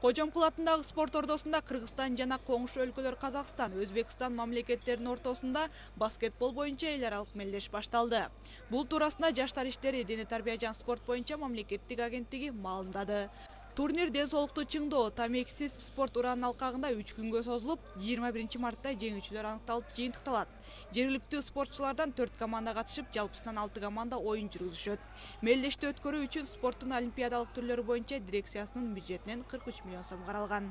Кожомкул атындагы спорт ордосунда Кыргызстан жана коңшу өлкөлөр Казакстан, Өзбекстан мамлекеттеринин ортосунда баскетбол боюнча эл аралык мелдеш башталды. Бул туурасында Жаштар иштери, дене тарбия жана спорт боюнча мамлекеттик агенттиги маалымдады. Турнир ден соолукту чыңдоо, тамексиз спорт ураанын алкагында 3 күнгө созулуп, 21 мартта жеңүүчүлөр аныкталып жыйынтыкталат. Жергиликтүү спортчулардан 4 команда катышып, жалпысынан 6 команда оюн жүргүзүшөт. Мелдешти өткөрүү үчүн спорттун олимпиадалык түрлөрү боюнча дирекциясынын бюджетинен 43 миллион сом каралган.